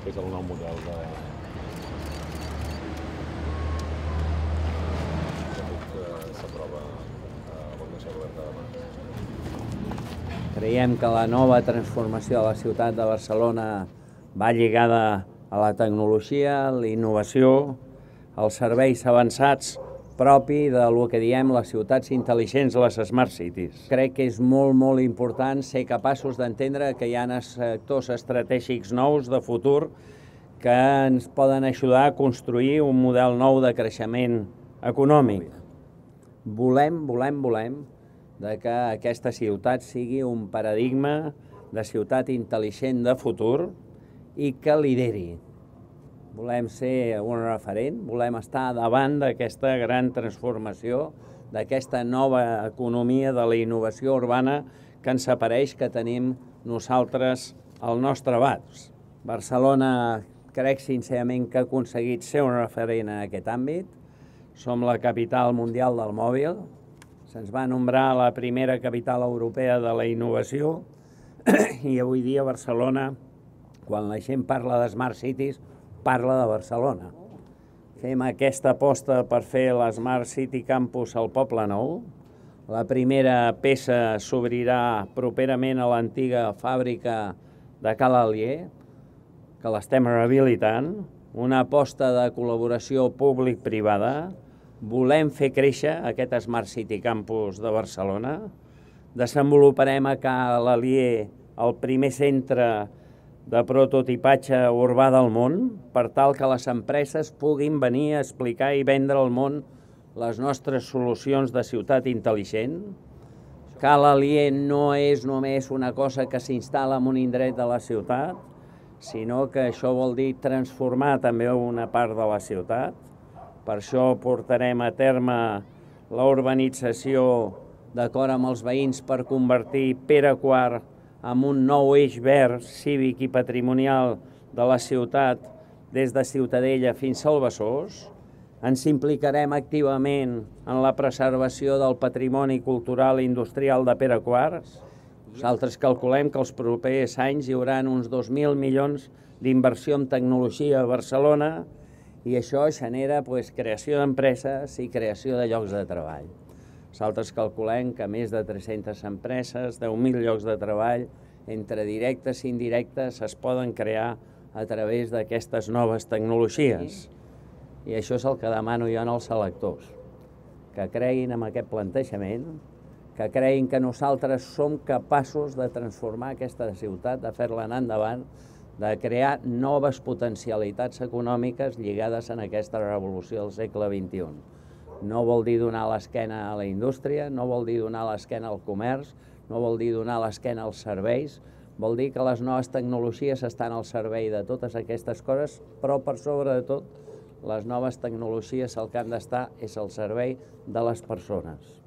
És el nou model que s'aprova a la Comissió Oberta demà. Creiem que la nova transformació de la ciutat de Barcelona va lligada a la tecnologia, la innovació, els serveis avançats propi del que diem les ciutats intel·ligents, les Smart Cities. Crec que és molt important ser capaços d'entendre que hi ha sectors estratègics nous de futur que ens poden ajudar a construir un model nou de creixement econòmic. Volem que aquesta ciutat sigui un paradigma de ciutat intel·ligent de futur i que lideri. Volem ser un referent, volem estar davant d'aquesta gran transformació, d'aquesta nova economia de la innovació urbana que ens apareix que tenim nosaltres al nostre abast. Barcelona crec sincerament que ha aconseguit ser un referent en aquest àmbit. Som la capital mundial del mòbil, se'ns va nombrar la primera capital europea de la innovació i avui dia Barcelona, quan la gent parla de Smart Cities, parla de Barcelona. Fem aquesta aposta per fer la Smart City Campus al Poble Nou. La primera peça s'obrirà properament a l'antiga fàbrica de Ca l'Alier, que l'estem rehabilitant. Una aposta de col·laboració públic-privada. Volem fer créixer aquest Smart City Campus de Barcelona. Desenvoluparem a Ca l'Alier el primer centre de prototipatge urbà del món, per tal que les empreses puguin venir a explicar i vendre al món les nostres solucions de ciutat intel·ligent. Ca l'Alier no és només una cosa que s'instal·la en un indret de la ciutat, sinó que això vol dir transformar també una part de la ciutat. Per això portarem a terme la urbanització d'acord amb els veïns per convertir Pere IV amb un nou eix verd, cívic i patrimonial de la ciutat des de Ciutadella fins al Besòs. Ens implicarem activament en la preservació del patrimoni cultural i industrial de Pere IV. Nosaltres calculem que els propers anys hi haurà uns 2.000 milions d'inversió en tecnologia a Barcelona i això genera creació d'empreses i creació de llocs de treball. Nosaltres calculem que més de 300 empreses, 10.000 llocs de treball, entre directes i indirectes, es poden crear a través d'aquestes noves tecnologies. I això és el que demano jo als electors, que creguin en aquest plantejament, que creguin que nosaltres som capaços de transformar aquesta ciutat, de fer-la anar endavant, de crear noves potencialitats econòmiques lligades en aquesta revolució del segle XXI. No vol dir donar l'esquena a la indústria, no vol dir donar l'esquena al comerç, no vol dir donar l'esquena als serveis, vol dir que les noves tecnologies estan al servei de totes aquestes coses, però per sobre de tot, les noves tecnologies el que han d'estar és al servei de les persones.